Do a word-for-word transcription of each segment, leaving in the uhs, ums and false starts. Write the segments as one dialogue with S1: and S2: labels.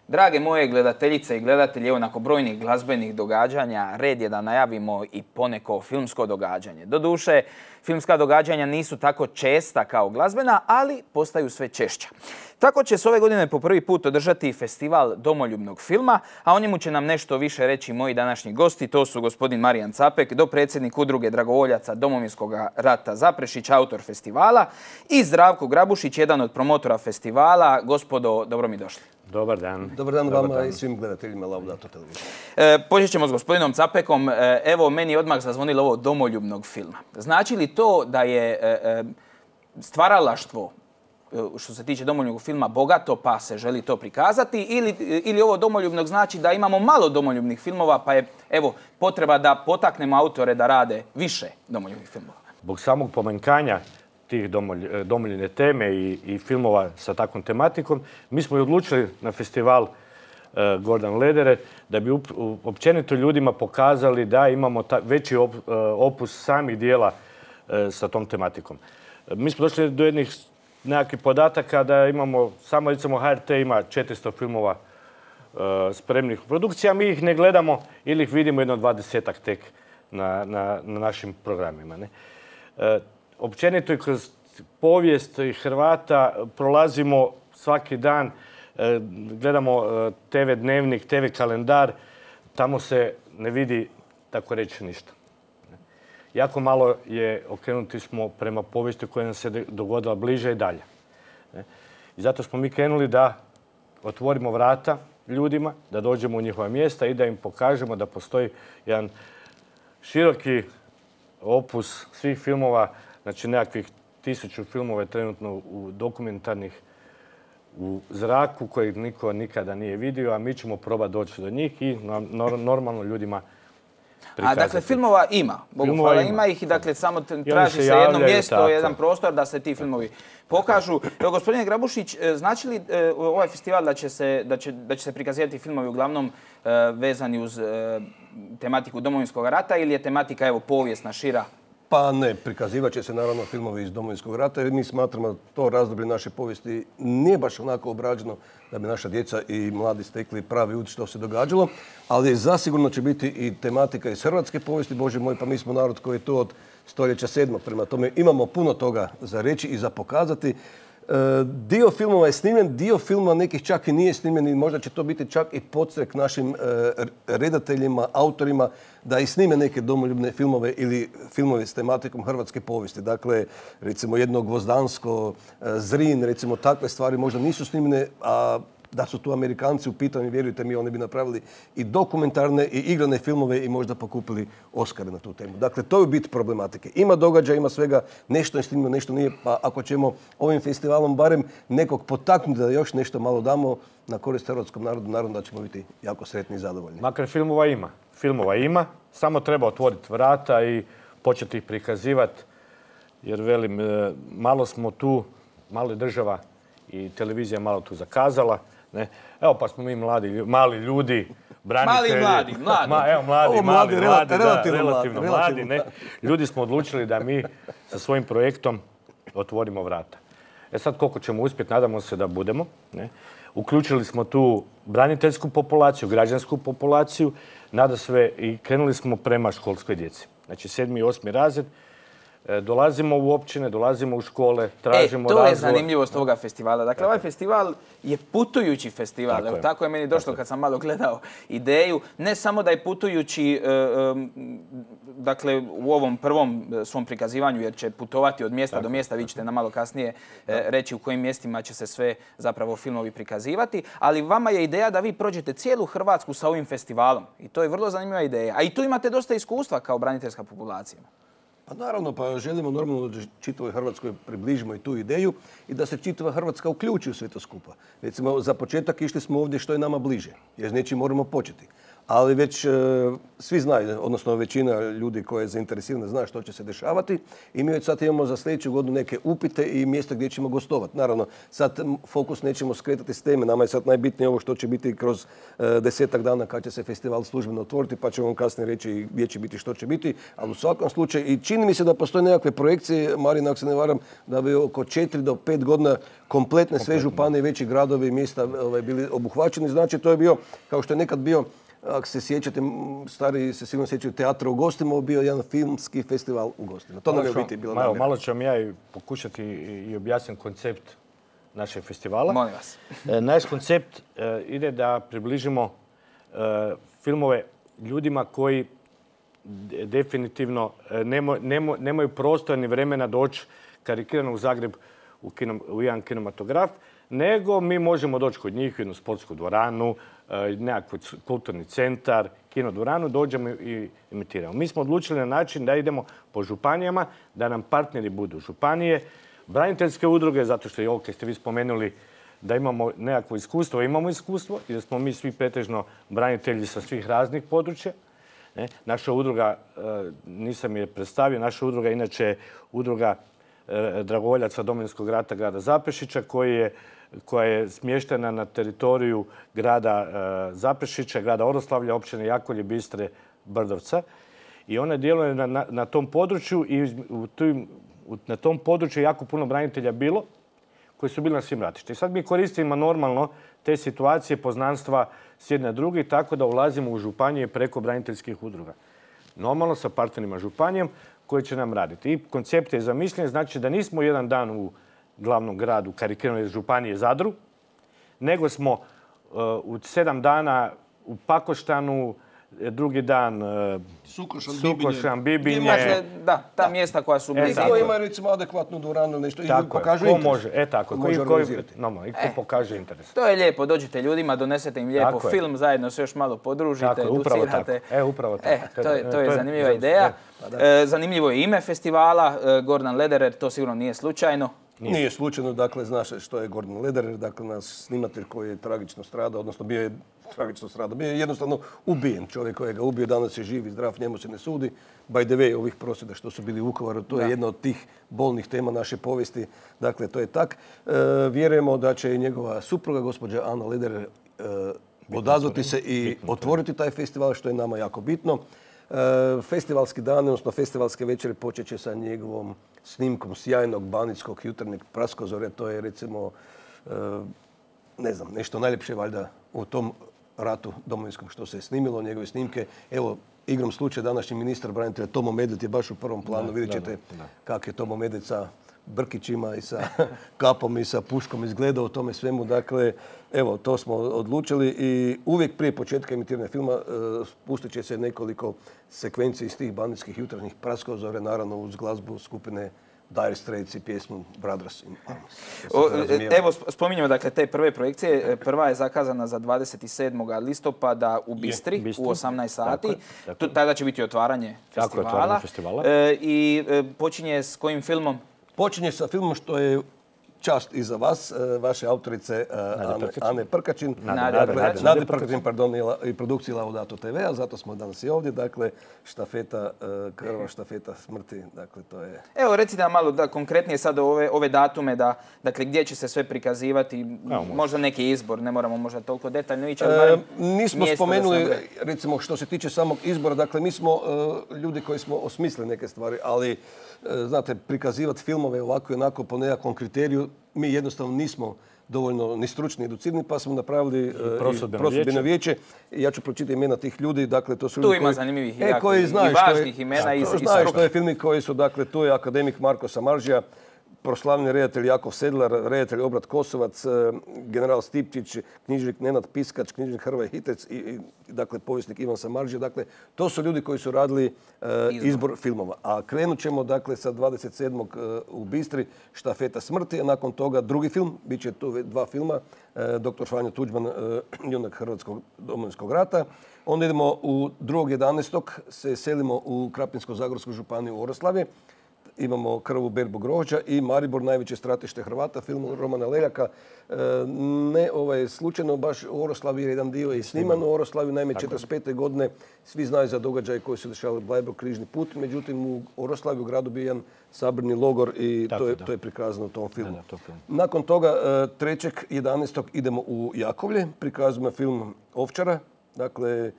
S1: Drage moje gledateljice i gledatelji, evo nakon brojnih glazbenih događanja, red je da najavimo i poneko filmsko događanje. Doduše, filmska događanja nisu tako česta kao glazbena, ali postaju sve češća. Tako će se ove godine po prvi put održati festival domoljubnog filma, a o njemu će nam nešto više reći moji današnji gosti. To su gospodin Marijan Capek, dopredsjednik udruge dragovoljaca Domovinskog rata Zaprešić, autor festivala, i Zdravko Grabušić, jedan od promotora festivala. Gospodo, dobro mi došli.
S2: Dobar dan.
S3: Dobar dan vama i svim gledateljima Laudato televizije.
S1: E, počet ćemo s gospodinom Capekom. E, evo, meni je odmah zazvonilo ovo domoljubnog filma. Znači li to da je e, e, stvaralaštvo što se tiče domoljubnog filma bogato pa se želi to prikazati, ili, ili ovo domoljubnog znači da imamo malo domoljubnih filmova pa je evo potreba da potaknemo autore da rade više domoljubnih filmova?
S2: Zbog samog pomanjkanja tih domolj, domoljubne teme i, i filmova sa takvom tematikom, mi smo i odlučili na festival uh, Gordan Ledere da bi up, općenito ljudima pokazali da imamo ta, veći op, uh, opus samih dijela uh, sa tom tematikom. Uh, mi smo došli do jednih nekakvih podataka da imamo, samo recimo H R T ima četiristo filmova uh, spremnih produkcija, mi ih ne gledamo ili ih vidimo jedno dvadesetak tek na, na, na našim programima. Ne? Uh, općenito i kroz povijest Hrvata prolazimo svaki dan, uh, gledamo uh, T V dnevnik, T V kalendar, tamo se ne vidi tako reći ništa. Jako malo je okrenuti smo prema povijesti koja nam se dogodila bliže i dalje. I zato smo mi krenuli da otvorimo vrata ljudima, da dođemo u njihova mjesta i da im pokažemo da postoji jedan široki opus svih filmova, znači nekakvih tisuću filmova je trenutno u dokumentarnih u zraku kojeg niko nikada nije vidio, a mi ćemo probati doći do njih i normalno ljudima prikazati.
S1: A dakle, filmova ima. Bogu hvala, ima ih i dakle samo traži se jedno mjesto, jedan prostor da se ti filmovi pokažu. Evo, gospodine Grabušić, znači li ovaj festival da će se, da će, da će se prikazivati filmovi uglavnom vezani uz tematiku Domovinskog rata ili je tematika evo povijesna, šira?
S3: Pa ne, prikazivat će se naravno filmovi iz Domovinskog rata jer mi smatramo da to razdoblje naše povijesti nije baš onako obrađeno da bi naša djeca i mladi stekli pravi uvid što se događalo, ali zasigurno će biti i tematika iz hrvatske povijesti, Bože moj, pa mi smo narod koji je tu od stoljeća sedmog, prema tome imamo puno toga za reći i za pokazati. Dio filmova je snimljen, dio filmova nekih čak i nije snimljen i možda će to biti čak i podstrek našim redateljima, autorima da i snime neke domoljubne filmove ili filmove s tematikom hrvatske povijesti. Dakle, recimo jedno Gvozdansko, Zrin, recimo takve stvari možda nisu snimljene, a da su tu Amerikanci u pitanju, vjerujte mi, oni bi napravili i dokumentarne i igrane filmove i možda pokupili Oscare na tu temu. Dakle, to je bit problematike. Ima događaja, ima svega, nešto je snimljeno, nešto nije, pa ako ćemo ovim festivalom barem nekog potaknuti da još nešto malo damo na korist hrvatskom narodu, naravno da ćemo biti jako sretni i zadovoljni.
S2: Makar filmova ima. Filmova ima, samo treba otvoriti vrata i početi ih prikazivati, jer velim, malo smo tu, malo je država i televizija malo tu zakazala. Ne? Evo pa smo mi mladi, mali ljudi, branitelji.
S1: Mali mladi, mladi.
S2: Ma, evo mladi,
S3: Ovo
S2: mladi,
S3: mladi,
S2: mladi,
S3: relativno,
S2: da, relativno
S3: mladi,
S2: mladi.
S3: relativno.
S2: Ne? Ljudi smo odlučili da mi sa svojim projektom otvorimo vrata. E sad koliko ćemo uspjeti, nadamo se da budemo. Ne? Uključili smo tu braniteljsku populaciju, građansku populaciju, nada sve i krenuli smo prema školskoj djeci. Znači sedmi i osmi razred. Dolazimo u općine, dolazimo u škole, tražimo razvoj.
S1: E, to je zanimljivost ovoga festivala. Dakle, ovaj festival je putujući festival. Tako, Evo, je. tako je meni došlo kad sam malo gledao ideju. Ne samo da je putujući, dakle, u ovom prvom svom prikazivanju, jer će putovati od mjesta tako, do mjesta, vi ćete nam malo kasnije tako. reći u kojim mjestima će se sve zapravo filmovi prikazivati, ali vama je ideja da vi prođete cijelu Hrvatsku sa ovim festivalom. I to je vrlo zanimljiva ideja. A i tu imate dosta iskustva kao braniteljska populacija.
S3: Pa naravno, pa želimo normalno da čitavoj Hrvatskoj približimo i tu ideju i da se čitava Hrvatska uključi u sve to skupa. Recimo, za početak išli smo ovdje što je nama bliže, jer s nečim moramo početi. ali već e, svi znaju, odnosno većina ljudi koja je zainteresirana zna što će se dešavati i mi već sad imamo za sljedeću godinu neke upite i mjesta gdje ćemo gostovati. Naravno, sad fokus nećemo skretati s teme, nama je sad najbitnije ovo što će biti kroz e, desetak dana kad će se festival službeno otvoriti, pa ćemo vam kasnije reći gdje će biti, što će biti, ali u svakom slučaju i čini mi se da postoje nekakve projekcije, Marina, ako se ne varam, da bi oko četiri do pet godina kompletne sve županije, veći gradovi i mjesta ovaj, bili obuhvaćeni. Znači, to je bio, kao što je nekad bio, ako se sjećate, stari se sigurno sjećaju teatra u Gostima, bio jedan filmski festival u Gostima. To nam je u biti bilo namjera.
S2: Malo ću vam ja i pokušati i objasniti koncept našeg festivala.
S1: Molim vas.
S2: Naš koncept ide da približimo filmove ljudima koji definitivno nemaju prostora ni vremena doći karikirano u Zagreb u, kino, u jedan kinematograf, nego mi možemo doći kod njih u jednu sportsku dvoranu, nekakvi kulturni centar, kinodvoranu, dođemo i imitiramo. Mi smo odlučili na način da idemo po županijama, da nam partneri budu županije, braniteljske udruge, zato što je ovo, kad ste vi spomenuli da imamo nekakvo iskustvo, imamo iskustvo i da smo mi svi pretežno branitelji sa svih raznih područja. Ne? Naša udruga, nisam je predstavio, naša udruga inače je udruga dragovoljaca Domovinskog rata grada Zaprešića, koji je, koja je smještena na teritoriju grada Zaprešića, grada Oroslavlja, općine Jakolje, Bistre, Brdovca. I ona djeluje na, na, na tom području i u tim, u, na tom području je jako puno branitelja bilo koji su bili na svim ratištima. I sad mi koristimo normalno te situacije, poznanstva s jedne druge, tako da ulazimo u županije preko braniteljskih udruga. Normalno sa partnerima županijom koji će nam raditi. I koncept je zamišljen, znači da nismo jedan dan u glavnom gradu karikiranoj županije Zadru, nego smo uh, u sedam dana u Pakoštanu, drugi dan uh,
S3: Sukošan,
S2: Sukošan, Bibinje.
S1: Dakle, da, ta da. mjesta koja su blizu.
S3: Neko ima recimo adekvatnu dvoranu ili nešto i pokažu
S2: ko
S3: interes.
S2: Može, e tako,
S3: ko
S2: koji,
S3: može
S2: koji,
S3: organizirati.
S2: no, i ko e, pokaže interes.
S1: To je lijepo, dođete ljudima, donesete im lijepo
S2: tako
S1: film, je. zajedno se još malo podružite,
S2: tako,
S1: educirate.
S2: Tako. E, upravo tako.
S1: E, to je, to je zanimljiva ideja. E, zanimljivo je ime festivala, Gordon Lederer, to sigurno nije slučajno.
S3: Nije. Nije slučajno, dakle, znaš što je Gordon Lederer, dakle, naš snimatelj koji je tragično stradao, odnosno bio je tragično stradao, bio je jednostavno ubijen. Čovjek koji ga ubio, danas je živ i zdrav, njemu se ne sudi. By the way, ovih prosvjeda što su bili u Vukovaru, to da. je jedna od tih bolnih tema naše povijesti. Dakle, to je tak. E, vjerujemo da će i njegova supruga, gospođa Ana Lederer, e, odazvati se i bitno, otvoriti taj festival, što je nama jako bitno. E, festivalski dan, odnosno festivalske večere počet će sa njegovom snimkom sjajnog banijskog jutarnjeg praskozore. To je recimo, e, ne znam, nešto najljepše valjda u tom ratu domovinskom što se je snimilo, njegove snimke. Evo, igrom slučaja današnji ministar branitelja Tomo Medved je baš u prvom planu. Da, vidjet ćete da, da, da. kak je Tomo Medved sa brkićima i sa kapom i sa puškom izgledao u tome svemu. Dakle, evo, to smo odlučili i uvijek prije početka emitiranja filma uh, pustit će se nekoliko sekvenci iz tih banditskih jutarnjih praskozore, naravno uz glazbu skupine Dire Straits i pjesmu Brothers in Arms.
S1: Evo, spominjemo dakle te prve projekcije. Prva je zakazana za dvadeset sedmog listopada u Bistri, je, Bistri. u osamnaest sati. Tako, tako. Tada će biti otvaranje
S2: tako,
S1: festivala.
S2: Otvaranje festivala.
S1: E, I e, počinje s kojim filmom?
S3: Počinje sa filmom što je čast i za vas, vaše autorice Ane, Ane Prkačin. Nade Prkačin, pardon, i produkciji Laudato te ve, a zato smo danas i ovdje. Dakle, štafeta, krva štafeta smrti, dakle to je...
S1: Evo, recite nam malo da konkretnije sad ove, ove datume, da, dakle, gdje će se sve prikazivati, Evo, možda neki izbor, ne moramo možda toliko detaljno ići, ali barem
S3: e, nismo spomenuli, recimo, što se tiče samog izbora, dakle, mi smo uh, ljudi koji smo osmislili neke stvari, ali znate, prikazivati filmove ovako i onako po nekakvom kriteriju, mi jednostavno nismo dovoljno ni stručni, educirani, pa smo napravili prosudbeno vijeće. Ja ću pročitati imena tih ljudi. Dakle, to su
S1: tu
S3: ljudi
S1: ima
S3: koji,
S1: zanimljivih
S3: e,
S1: jako,
S3: koji znaju
S1: i važnih što je, imena i, i
S3: znaju što je filmi koji su, dakle, tu je akademik Marko Samaržija, proslavljeni redatelj Jakov Sedlar, redatelj Obrat Kosovac, general Stipčić, knjižnik Nenad Piskač, knjižnik Hrvoje Hitec i, i dakle, povjesnik Ivan Samaržija. Dakle, to su ljudi koji su radili uh, izbor. izbor filmova. A krenut ćemo dakle, sa dvadeset sedmog u Bistri, Štafeta smrti, a nakon toga drugi film, bit će tu dva filma, uh, doktor Franjo Tuđman, uh, junak Hrvatskog domovinskog rata. Onda idemo u drugog jedanaestog se selimo u Krapinsko-zagorsku županiju u Oroslavje. imamo Krvu berbu grožđa i Maribor, najveće stratište Hrvata, film Romana Leljaka. E, ne ovaj, slučajno baš u Oroslaviji je jedan dio i sniman u Oroslaviji, naime četrdeset pete. godine svi znaju za događaje koji su dešavali Bleiburg, križni put, međutim u Oroslaviji u gradu bio jedan saborni logor i
S2: Tako,
S3: to, je,
S2: da.
S3: to je prikazano u tom filmu.
S2: Da, da, to film.
S3: Nakon toga trećeg jedanaestog idemo u Jakovlje, prikazujemo film Ovčara, dakle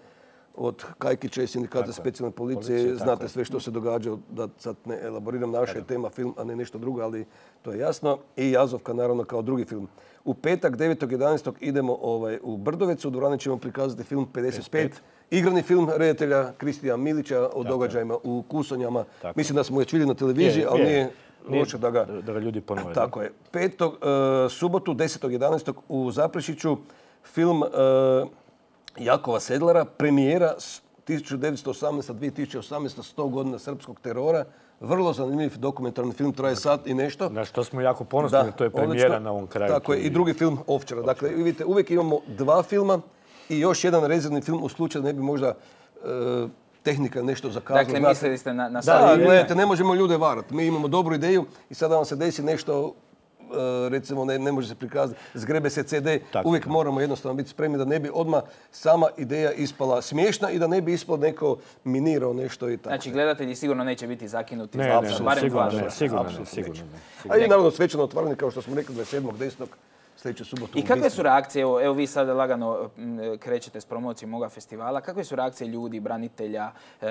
S3: od Kajkića i Sindikata
S2: Tako je.
S3: specijalne policije,
S2: Policije, tako
S3: znate
S2: je.
S3: sve što se događa, da sad ne elaboriram, naša je tema film, a ne nešto drugo, ali to je jasno. I Jazovka naravno kao drugi film. U petak, devetog jedanaestog idemo ovaj, u Brdovecu, u dvorani ćemo prikazati film pedeset pet. Igrani film redatelja Kristijana Milića o događajima u Kusonjama.
S2: Tako.
S3: Mislim da smo ga vidjeli na televiziji,
S2: Je,
S3: ali
S2: je.
S3: nije
S2: Nije
S3: loše da ga...
S2: da ga ljudi ponove.
S3: Tako je. Petog, e, subotu, desetog jedanaestog u Zaprešiću film e, Jakova Sedlara, premijera s tisuću devetsto osamnaesta. do dvije tisuće osamnaeste. sto godina srpskog terora. Vrlo zanimljiv dokumentarni film, traje sat i nešto.
S2: Na što smo jako ponosni, to je premijera
S3: odlično.
S2: na ovom kraju.
S3: Tako je, i drugi film Ovčara. Dakle, vidite, uvijek imamo dva filma i još jedan rezervni film u slučaju da ne bi možda e, tehnika nešto zakazala.
S1: Dakle,
S3: znate.
S1: mislili ste na, na
S3: Da,
S1: sad-
S3: gledajte, ne možemo ljude varati. Mi imamo dobru ideju i sada vam se desi nešto, e, recimo ne, ne može se prikazati, zgrebe se ce de,
S2: Tako,
S3: uvijek
S2: da.
S3: moramo jednostavno biti spremni da ne bi odmah sama ideja ispala smiješna i da ne bi ispalo neko minirao nešto i tako.
S1: Znači, gledatelji sigurno neće biti zakinuti.
S2: Ne,
S1: za-
S2: ne,
S1: za
S2: ne,
S1: barem
S2: sigurno
S1: dva
S2: ne,
S1: dana.
S2: sigurno ne,
S3: Apsolutno
S2: sigurno
S3: neće.
S2: ne.
S3: A i naravno svečano otvaranje, kao što smo rekli, dvadeset sedmog desetog sljedeću subotu.
S1: I
S3: u
S1: kakve
S3: Bistri.
S1: su reakcije, evo, evo vi sad lagano m, krećete s promocijom ovoga festivala, kakve su reakcije ljudi, branitelja, e,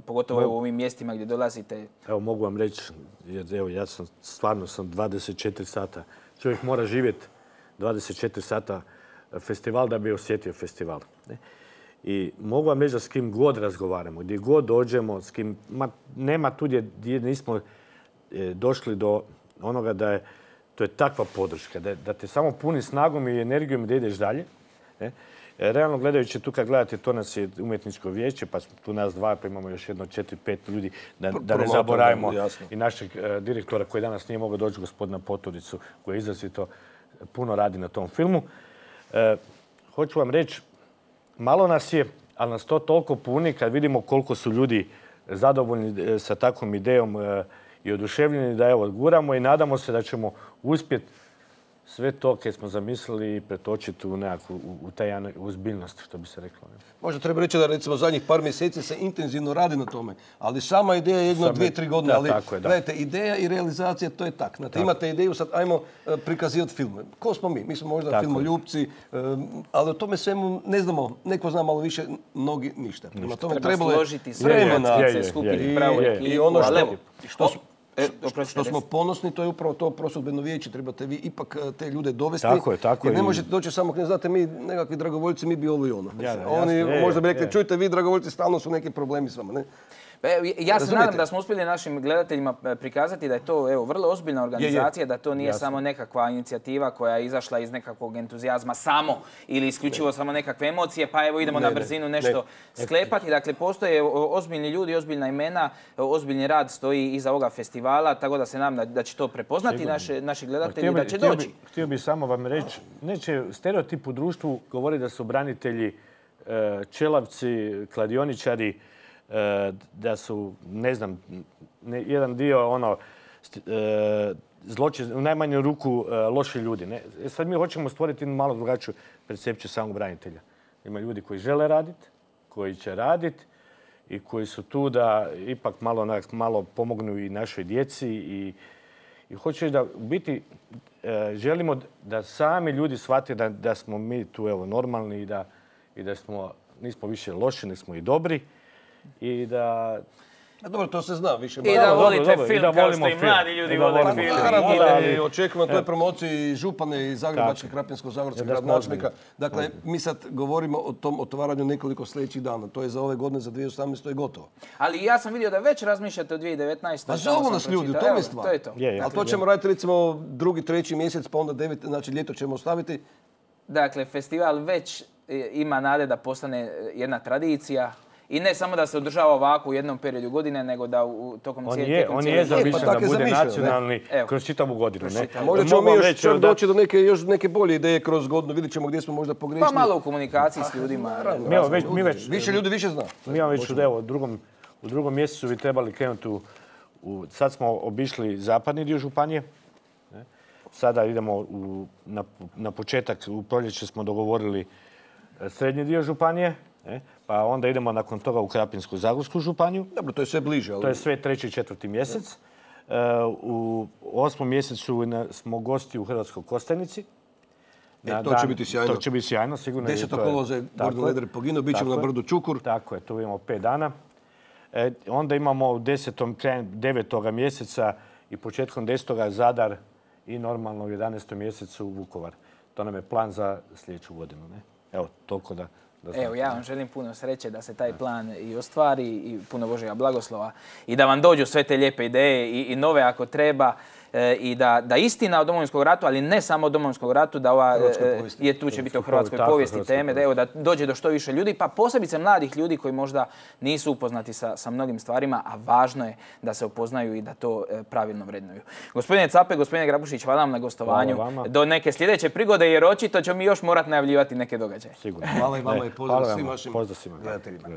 S1: pogotovo evo u ovim mjestima gdje dolazite?
S2: Evo mogu vam reći, jer evo ja sam stvarno sam dvadeset četiri sata. Čovjek mora živjeti dvadeset četiri sata festival da bi osjetio festival. Ne? I mogu vam reći da s kim god razgovaramo, gdje god dođemo, s kim, ma, nema tu gdje, gdje nismo e, došli do onoga da je to je takva podrška, da, da te samo puni snagom i energijom da ideš dalje. Ne? E, realno gledajući tu kad gledate, to nas je umjetničko vijeće, pa smo tu nas dva, pa imamo još jedno četiri, pet ljudi, da, da ne
S3: promotor,
S2: zaboravimo
S3: jasno.
S2: i našeg e, direktora koji danas nije mogao doći, gospodina Poturicu, koji je izrazito puno radi na tom filmu. E, hoću vam reći, malo nas je, ali nas to toliko puni kad vidimo koliko su ljudi zadovoljni e, sa takvom idejom e, i oduševljeni da evo guramo i nadamo se da ćemo uspjeti sve to kad smo zamislili pretočiti u nekakvu, u, u taj jedan uzbiljnost, što bi se reklo. Ne?
S3: Možda treba reći da recimo zadnjih par mjeseci se intenzivno radi na tome, ali sama ideja je jedno,
S2: Sama-
S3: dvije, tri godine,
S2: da,
S3: ali
S2: tako je, da.
S3: gledajte, ideja i realizacija to je tak. Znate, imate ideju, sad ajmo e, prikazivati film. Ko smo mi? Mi smo možda
S2: Tako je.
S3: filmoljupci, e, ali o tome svemu ne znamo, neko zna malo više, mnogi ništa. Prema tome
S1: Treba
S3: trebalo je
S1: složiti sve
S3: vremena.
S2: je,
S1: utakmice,
S2: je,
S1: skupiti
S2: je,
S1: pravu
S2: je.
S1: ekipu.
S3: I ono
S1: ali
S3: što,
S1: evo,
S3: što, smo-
S1: e,
S3: što-
S1: oprostite,
S3: što smo
S1: recite.
S3: ponosni, to je upravo to prosudbeno vijeće. Trebate vi ipak e, te ljude dovesti.
S2: Tako je, tako
S3: jer ne
S2: je.
S3: možete doći samo, ne znate, mi nekakvi dragovoljci, mi bi ovo i ono.
S2: Ja, jasno,
S3: Oni
S2: je,
S3: možda bi
S2: je,
S3: rekli,
S2: je.
S3: čujte vi dragovoljci, stalno su neki problemi s vama. Ne?
S1: Pa evo, ja se
S3: Razumijete?
S1: nadam da smo uspjeli našim gledateljima e, prikazati da je to evo, vrlo ozbiljna organizacija, da to nije
S2: Jasno.
S1: samo nekakva inicijativa koja je izašla iz nekakvog entuzijazma samo ili isključivo samo nekakve emocije, pa evo idemo
S3: Ne,
S1: na
S3: ne,
S1: brzinu
S3: ne.
S1: nešto sklepati. Dakle, postoje o, ozbiljni ljudi, ozbiljna imena, o, ozbiljni rad stoji iza ovoga festivala, tako da se nadam da, da će to prepoznati
S2: Sigurno.
S1: naše, naši
S2: Pa
S1: gledatelji i da će
S2: htio
S1: doći.
S2: Bi, htio bi samo vam reći, neće stereotip u društvu govori da su branitelji e, čelavci, kladioničari, e, da su, ne znam, ne, jedan dio ono, st- e, zločin, u najmanju ruku e, loši ljudi. Ne? E, sad mi hoćemo stvoriti jednu malo drugačiju percepciju samog branitelja. Ima ljudi koji žele raditi, koji će raditi i koji su tu da ipak malo, onak, malo pomognu i našoj djeci i I hoću reći da u biti e, želimo da sami ljudi shvate da, da smo mi tu evo normalni i da, i da smo, nismo više loši, nego smo i dobri i da...
S3: A dobro, to se zna više.
S1: I
S3: manje.
S1: da
S2: dobro,
S1: volite
S2: dobro, i
S1: film
S2: da
S1: kao
S2: volimo
S1: što i
S2: film.
S1: mladi ljudi
S2: I da
S1: vole
S2: volimo
S1: film.
S2: film.
S3: Naravno,
S2: I da-
S3: i očekujemo na toj promociji i župane i zagrebačke, krapinsko-zagorske
S2: Ja, da smo
S3: gradonačelnika.
S2: ozbiljni.
S3: Dakle, mi sad govorimo o tom otvaranju nekoliko sljedećih dana. To je za ove godine, za dvije tisuće osamnaeste. je gotovo.
S1: Ali ja sam vidio da već razmišljate o dvije tisuće devetnaestoj.
S3: Pa
S1: samo
S3: zovu
S1: sam
S3: nas ljudi, u
S1: pročitao.
S3: tome
S1: Evo,
S3: je stvar.
S1: To je to.
S2: Je, je.
S3: Ali to ćemo raditi recimo drugi, treći mjesec, pa onda devet, znači ljeto ćemo ostaviti.
S1: Dakle, festival već e, ima nade da postane e, jedna tradicija. I ne samo da se održava ovako u jednom periodu godine, nego da u, tokom
S2: On
S1: cijele
S2: je,
S1: tijekom
S2: on
S1: cijele
S2: je
S1: godine.
S2: zamišljen
S3: pa tak
S2: da
S3: je
S2: bude
S3: zamišljeno, ne?
S2: nacionalni
S1: Evo.
S2: kroz čitavu godinu. Ne?
S3: A možda ćemo
S2: Mogu
S3: mi
S2: vam
S3: još
S2: reći,
S3: čak
S2: da-
S3: doći do neke, još neke bolje ideje kroz godinu. Vidjet ćemo gdje smo možda pogrešili.
S1: Pa malo u komunikaciji s ljudima.
S3: Naravno,
S2: Mi evo već- mi već-
S3: Više ljudi više zna.
S2: Mi vam već u, evo, u drugom, u drugom mjesecu bi trebali krenuti u, u, sad smo obišli zapadni dio županije. Ne? Sada idemo u, na, na početak, u proljeće smo dogovorili srednji dio županije. Ne? Pa onda idemo nakon toga u Krapinsko-zagorsku županiju.
S3: Dobro, to je sve bliže. Ali...
S2: To je sve treći i četvrti mjesec. Uh, u osmom mjesecu smo gosti u Hrvatskoj Kostajnici.
S3: E, to će biti sjajno.
S2: To će biti sjajno, sigurno.
S3: desetog kolovoza je Gordon Lederer poginuo, bit ćemo na brdu Čukur.
S2: Tako je, tu imamo pet dana. E, onda imamo u desetom, krajem devetoga mjeseca i početkom desetoga Zadar i normalno u jedanaestom mjesecu Vukovar. To nam je plan za sljedeću godinu. Ne? Evo, toliko da... da
S1: Evo, ja vam želim puno sreće da se taj plan i ostvari i puno Božjega blagoslova i da vam dođu sve te lijepe ideje i, i nove ako treba. I da, da istina o Domovinskom ratu, ali ne samo o Domovinskom ratu, da ova je tu će biti o hrvatskoj povijesti teme, da, evo, da dođe do što više ljudi, pa posebice mladih ljudi koji možda nisu upoznati sa, sa mnogim stvarima, a važno je da se upoznaju i da to pravilno vrednuju. Gospodine Cape, gospodine Grabušić, hvala vam na gostovanju. Do neke sljedeće prigode, jer očito ćemo mi još morati najavljivati neke događaje.
S2: Sigurno.
S3: Hvala i vama i pozdrav svim vašim gledateljima.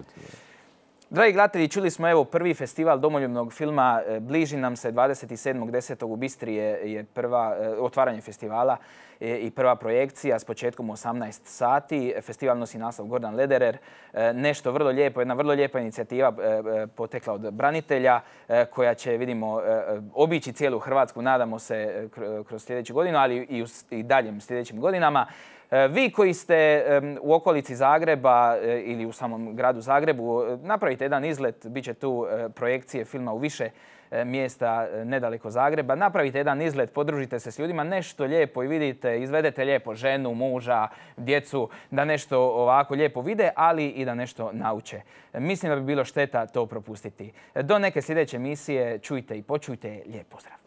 S1: Dragi gledatelji, čuli smo evo prvi festival domoljubnog filma, bliži nam se dvadeset sedmog desetog u Bistri je, je prva, otvaranje festivala i prva projekcija s početkom u osamnaest sati. Festival nosi naslov Gordan Lederer. Nešto vrlo lijepo, jedna vrlo lijepa inicijativa potekla od branitelja koja će, vidimo, obići cijelu Hrvatsku, nadamo se, kroz sljedeću godinu, ali i u i daljim sljedećim godinama. Vi koji ste u okolici Zagreba ili u samom gradu Zagrebu, napravite jedan izlet, bit će tu projekcije filma u više mjesta nedaleko Zagreba. Napravite jedan izlet, podružite se s ljudima, nešto lijepo i vidite, izvedete lijepo ženu, muža, djecu, da nešto ovako lijepo vide, ali i da nešto nauče. Mislim da bi bilo šteta to propustiti. Do neke sljedeće emisije čujte i počujte. Lijep pozdrav.